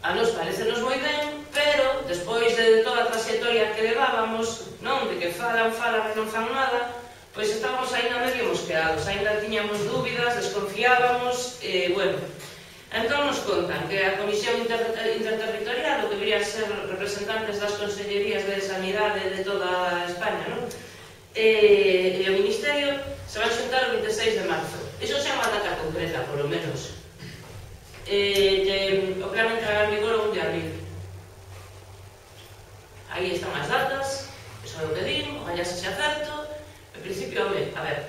a nos parecenos moi ben, pero despois de toda a trayectoria que levábamos, non, de que falan, falan e non fan nada, pois estábamos ainda medio mosqueados, ainda tiñamos dúbidas, desconfiábamos, e, bueno, entón nos contan que a Comisión Inter Interterritorial, o que deberían ser representantes das Consellerías de Sanidade de toda España, non? E, e o Ministerio se van xuntar o veintiséis de marzo. Iso xa é unha data concreta, polo menos. E, e, o plan entrará en vigor o un de abril. Aí están as datas, iso é o que din, o gallá se xa certo. En principio, home, a ver,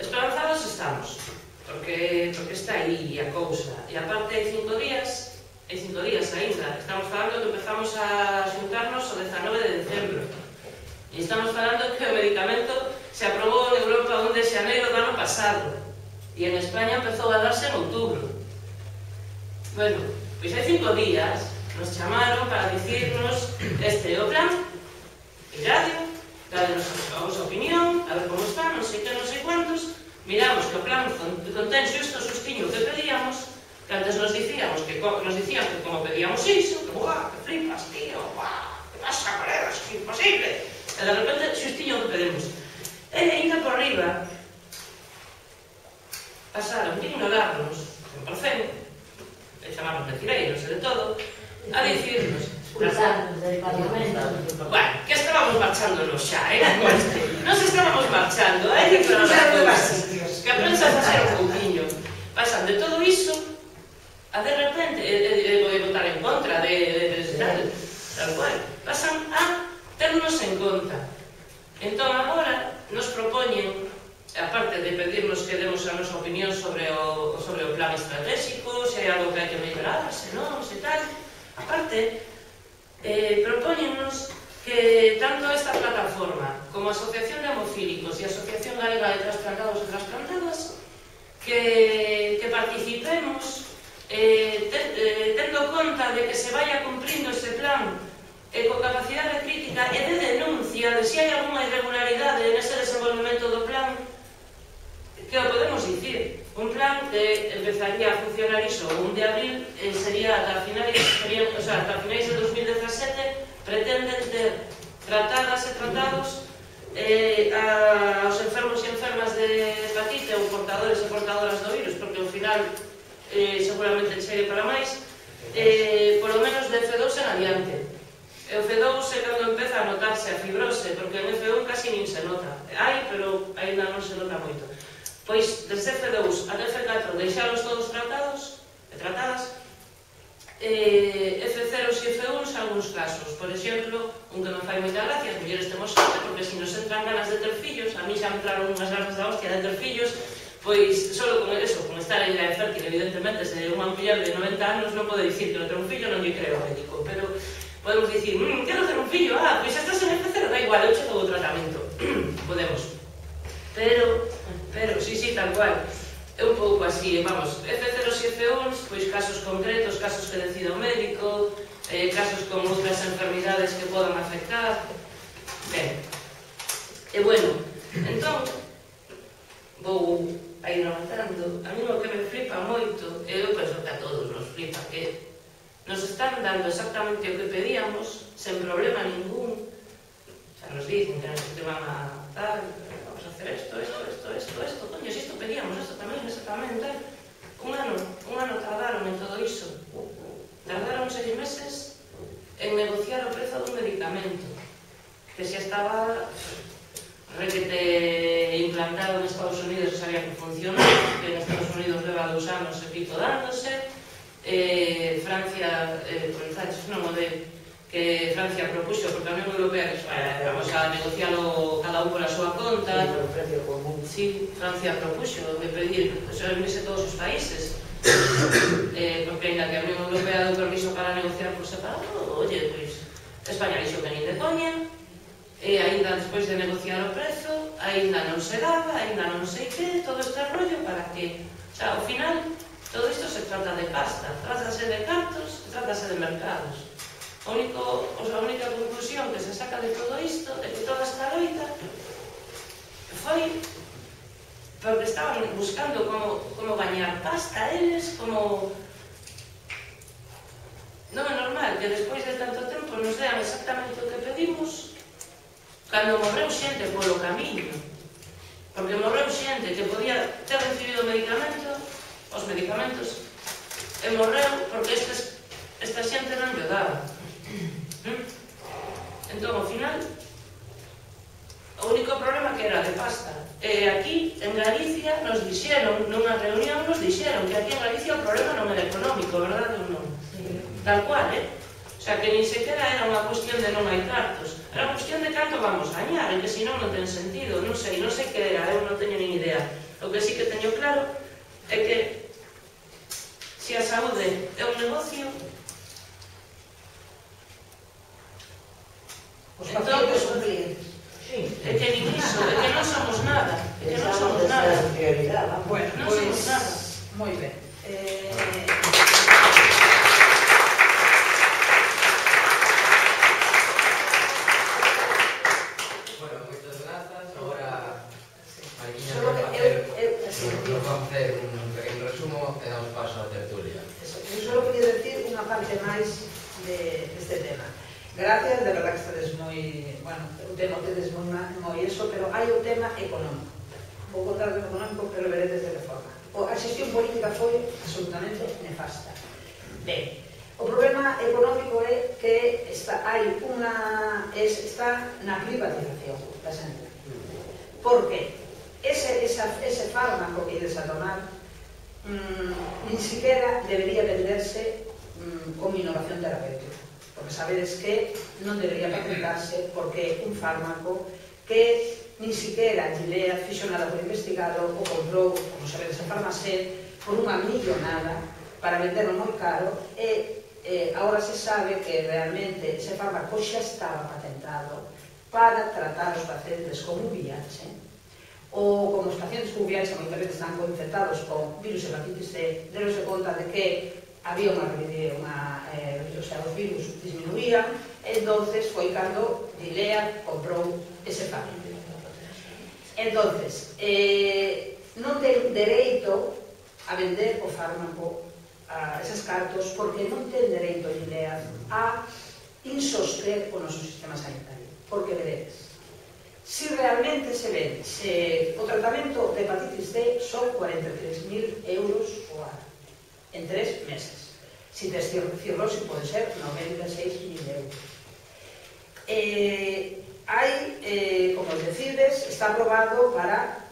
esperanzados estamos, porque, porque está aí a cousa. E aparte hai cinco días, hai cinco días ainda, estamos falando que empezamos a xuntarnos o dezanove de decembro. E estamos falando que o medicamento se aprobou en Europa un de xaneiro do ano pasado e en España empezou a darse en outubro. Bueno, pois hai cinco días nos chamaron para dicirnos este é o plan, miradlo, dadenos a vosa opinión, a ver como está, non sei que, non sei cuantos, miramos que o plan contén xusto o sustiño que pedíamos, que antes nos dicíamos que nos dicían que como pedíamos iso, que guau, que flipas, tío, guau, que pasa, colegas, que imposible. E de repente, xustiño que pedimos. E ainda por riba, pasaron de ignorarnos, cen por cento, e chamarnos mentireiros e de todo, a dicirnos expulsarnos del Parlamento. Bueno, que estábamos marchándonos xa, eh? Nos estábamos marchando, hai que aclararnos que a prensa facer un pouquinho. Pasan de todo iso a de repente, e vou votar en contra de tal, tal cual, pasan a ternos en conta. Entón agora nos propoñen, aparte de pedirnos que demos a nosa opinión sobre o, sobre o plan estratégico, se hai algo que hai que mellorar, se non, se tal, aparte, eh, propóñennos que tanto esta plataforma como a Asociación de Hemofílicos e a Asociación Galega de Trasplantados e Trasplantadas que, que participemos eh, te, eh, tendo conta de que se vaya cumprindo ese plan e con capacidade crítica e de denuncia de se hai alguna irregularidade nese desenvolvemento do plan, que o podemos dicir. Un plan que empezaría a funcionar iso o un de abril, eh, sería ata finais, sería, o sea, ata finais de dos mil dezasete, pretenden ter tratadas e tratados eh, a, aos enfermos e enfermas de hepatite ou portadores e portadoras do virus, porque ao final eh, seguramente chegue para máis, eh, polo menos de F dous en adiante. E o F dous é cando empeza a notarse a fibrose, porque en F un casi nin se nota. Hai, pero ainda non se nota moito. Pois, desde F dous a F catro, deixalos todos tratados e tratadas, eh, F cero e F un en algúns casos. Por exemplo, un que non fai moita gracia, as mulleres temos sorte, porque se nos entran ganas de ter fillos, a mí xa me entraron unhas ganas da hostia de ter fillos, pois, solo con eso, con estar en idade fértil, evidentemente, se unha muller de noventa anos non pode dicir que non ter un fillo, non lle creo ao médico, pero podemos dicir, mmm, quero ter un fillo, ah, pois estás en F cero, da igual, eu che dou o tratamento. Podemos. Pero, pero, sí, sí, tal cual. É un pouco así, vamos, F cero e F un, pois casos concretos, casos que decida o médico, eh, casos con outras enfermidades que podan afectar. Ben, e bueno, entón, vou a ir avanzando. A mí o que me flipa moito, e eu penso que a todos nos flipa, que nos están dando exactamente o que pedíamos, sen problema ningún. Xa nos dicen que nos van a tal, vamos a hacer esto, esto, esto, esto, esto, coño, si isto pedíamos, esto tamén, esto tamén, tal. Un ano, un ano tardaron en todo iso. Tardaron seis meses en negociar o prezo dun medicamento, que xa estaba requete implantado en Estados Unidos, sabía que funcionaba, que en Estados Unidos leva dous anos e pico dándose. Eh, Francia, eh, por entonces, non o de que Francia propuxo, porque a Unión Europea que eh, vamos a negocialo cada un pola súa conta. Sí, por precio común. Sí, Francia propuxo de pedir, eso unirse todos os países, eh, porque ainda que a Unión Europea deu permiso para negociar por separado, oye, pois, España dixo que nin de coña, e ainda despois de negociar o prezo, ainda non se daba, ainda non sei que, todo este rollo para que, o sea, ao final, todo isto se trata de pasta, trátase de cartos, trátase de mercados. O único, a única conclusión que se saca de todo isto é que toda esta loita foi porque estaban buscando como, como gañar pasta eles, como... Non é normal que despois de tanto tempo nos dean exactamente o que pedimos cando morreu xente polo camiño, porque morreu xente que podía ter recibido medicamento, os medicamentos, e morreu porque estes, esta xente non lle daba. Entón, ao final, o único problema que era de pasta. E aquí, en Galicia, nos dixeron, nunha reunión, nos dixeron que aquí en Galicia o problema non era económico, verdade ou non? Tal cual, eh? O sea, que nin sequera era unha cuestión de non hai cartos. Era unha cuestión de canto vamos a gañar, en que senón non ten sentido. Non sei, non sei que era, eu non teño nin idea. O que sí que teño claro é que se a saúde é un negocio, os entón, pacientes son clientes. Sí. É que nin iso, é que non somos nada. É que non somos Pensamos nada. esa prioridade, vamos. Bueno, Non pois, somos nada. moi ben. Eh, Bueno, moitas grazas. Agora, Mariquiña solo nos que va a eu, hacer, eu, así, nos va a hacer un pequeno resumo e damos paso á tertulia. eso, eu só queria decir unha parte máis de, deste tema. Gracias, de verdad que estades moi, bueno, o tema tedes moi, moi eso, pero hai o tema económico. Vou contar o económico, pero veredes de que forma. O, a xestión política foi absolutamente nefasta. Ben, o problema económico é que está, hai unha, es, está na privatización da sanidade. Por que? Ese, esa, ese fármaco que ides a tomar mmm, nin siquiera debería venderse mmm, como innovación terapéutica, porque sabedes que non debería patentarse porque é un fármaco que nin siquiera Gilead fixo nada por investigado o comprou, como sabedes, a Farmacet por unha millonada para venderlo moi caro e eh, agora se sabe que realmente ese fármaco xa estaba patentado para tratar os pacientes con V I H ou como os pacientes con V I H moitas veces están infectados con virus hepatitis C, deronse conta de que había unha, unha eh, o sea, os virus disminuían, entonces foi cando Gilead comprou ese fármaco. Entonces, eh, non ten dereito a vender o fármaco a eses cartos porque non ten dereito Gilead a insoster o noso sistema sanitario. Porque veredes, si realmente se ven, se o tratamento de hepatitis C son cuarenta e tres mil euros o ano, en tres meses. Si tes cirrosis pode ser noventa e seis mil euros. Eh, hai, eh, como decides, está aprobado para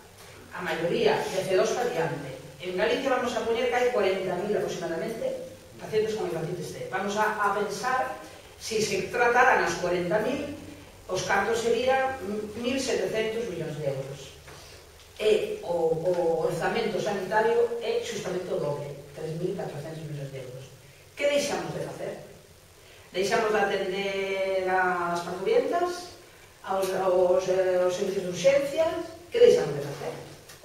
a maioría de C dos variante. En Galicia vamos a poñer que hai cuarenta mil aproximadamente pacientes con hepatitis C. Vamos a, a pensar, si se trataran as cuarenta mil, os cartos serían mil setecentos millóns de euros. E o, o orzamento sanitario é justamente o doble, tres mil catrocentos millóns de euros. Que deixamos de facer? Deixamos de atender as parturientas, aos, aos, aos servicios de urxencias? Que deixamos de facer?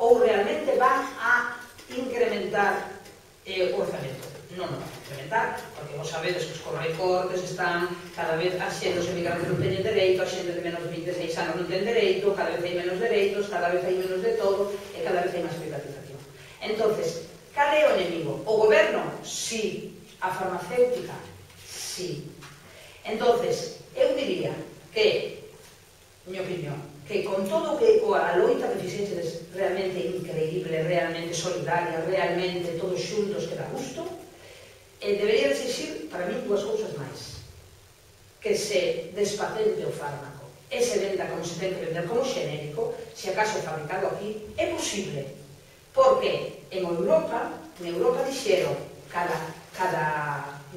Ou realmente van a incrementar eh, o orzamento? Non, non, incrementar, porque vos sabedes que os correcortes están cada vez a xente, os emigrantes non teñen dereito, a xente de menos de vinte e seis anos non ten dereito, cada vez hai menos dereitos, cada vez hai menos de todo e cada vez hai máis privatización. Entonces, cal é o enemigo? O goberno? Sí. A farmacéutica? Sí. Entonces, eu diría que, miña opinión, que con todo que a loita que fixeches realmente increíble, realmente solidaria, realmente todos xuntos que dá gusto, eh, debería exigir para mí dúas cousas máis: que se despatente o fármaco e se venda como se ten que vender como xenérico, se acaso fabricado aquí, é posible, porque en Europa, en Europa dixeron cada, cada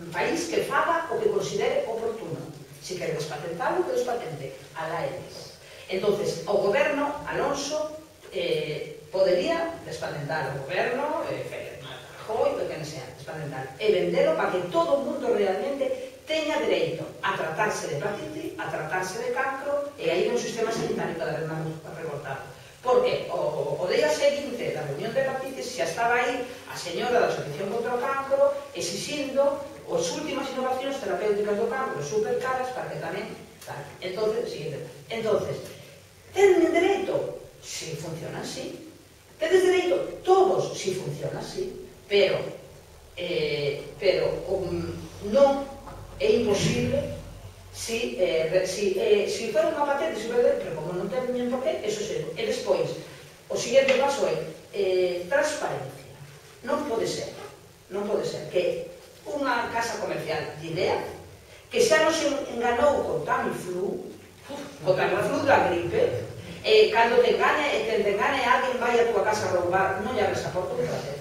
país que faga o que considere oportuno. Se quere despatentalo, que despatente, alá eles. Entonces, o goberno, Alonso, eh, podería despatentar o goberno, eh, Rajoy, que quen sea, despatentar, e vendelo para que todo o mundo realmente teña dereito a tratarse de hepatite, a tratarse de cancro, e aí un sistema sanitario cada vez máis recortado. Porque o, o día seguinte da reunión de hepatitis xa estaba aí a señora da Asociación contra o Cancro exixindo as últimas innovacións terapéuticas do cancro super caras para que tamén tal. Entonces, siguiente. Entonces, tenen dereito? Si funciona así. Tedes dereito? Todos, si funciona así. Pero, eh, pero um, non é imposible si, eh, si, eh, si fuera unha patente, si fuera, pero como non ten nin por qué, eso se. E despois, o seguinte paso é eh, transparencia. Non pode ser, non pode ser que unha casa comercial de idea que xa nos enganou con Tamiflu, con Tamiflu da gripe, e cando te engane, e te engane alguén vai a tua casa a roubar, non lle abres a porta de placer.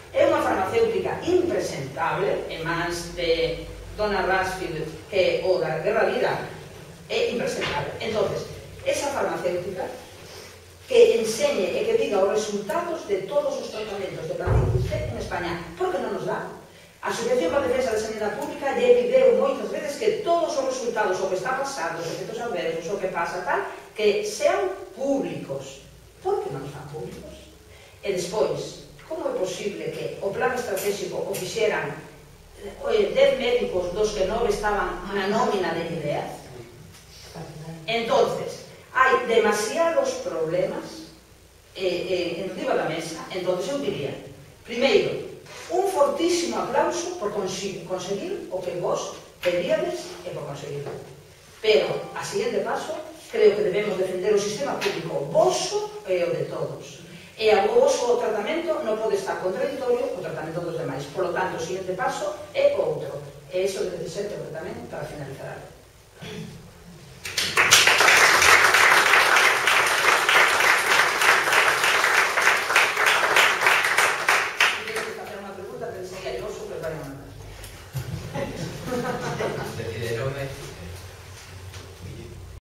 É unha farmacéutica impresentable, en mans de Donna Ransfield, que o da Guerra Vida, é impresentable. Entonces, esa farmacéutica que enseñe e que diga os resultados de todos os tratamentos de hepatitis C en España, porque non nos dá. A Asociación para a Defensa da Sanidade Pública lle pideu moitas veces que todos os resultados, o que está pasando, os efectos adversos, o que pasa, tal, que sean públicos. Por que non están públicos? E despois, como é posible que o plan estratégico o fixeran dez médicos dos que nove estaban na nómina de ideas? Entonces, hai demasiados problemas eh, eh, encima da mesa. Entonces eu diría, primeiro, un fortísimo aplauso por conseguir o que vos pedíades e por conseguirlo. Pero, a siguiente paso, creo que debemos defender o sistema público voso e o de todos. E o voso tratamento non pode estar contradictorio co tratamento dos demais. Por lo tanto, o siguiente paso é outro. E iso debe ser tamén para finalizar.